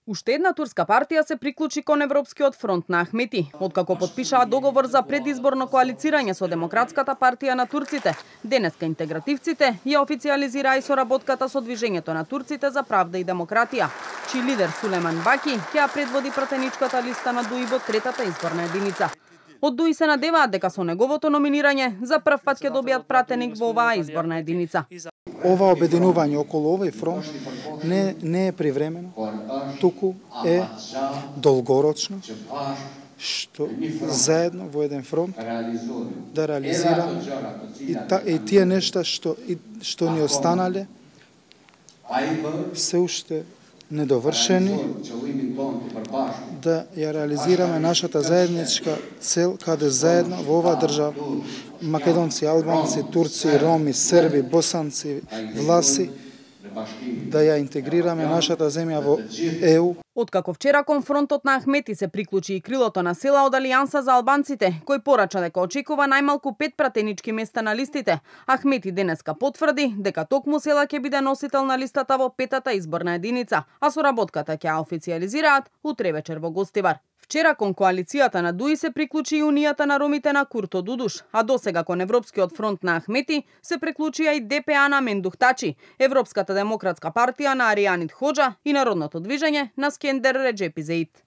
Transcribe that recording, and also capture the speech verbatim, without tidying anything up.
Уште една турска партија се приклучи кон Европскиот фронт на Ахмети, откако потпишаа договор за предизборно коалицирање со Демократската партија на турците. Денеска интегративците ја официализираа и соработката со Движењето на турците за правда и демократија, чиј лидер Сулеман Баки ќе ја предводи пратеничката листа на ДУИ во третата изборна единица. Од ДУИ се надеваат дека со неговото номинирање за прв пат ќе добијат пратеник во оваа изборна единица. Ова обединување околу овој фронт не, не е привремено, туку е долгорочно, што заедно во еден фронт да реализираме и, та, и тие нешта што, и, што ни останале се уште недовршени, да ја реализираме нашата заедничка цел, каде заедно во оваа држава, македонци, албанци, турци, роми, срби, босанци, власи, да ја интегрираме нашата земја во Е У. Откако вчера кон фронтот на Ахмети се приклучи и крилото на села од Алијанса за албанците, кој порача дека очекува најмалку пет пратенички места на листите, Ахмети денеска потврди дека токму села ќе биде носител на листата во петата изборна единица, а соработката ќе ја официализираат утре вечер во Гостивар. Вчера кон коалицијата на ДУИ се приклучи и Унијата на ромите на Курто Дудуш, а досега кон Европскиот фронт на Ахмети се приклучија и Де Пе А на Мендух Тачи, Европската демократска партија на Аријанит Хоџа и Народното движење на Скендер Реџепи Зеит.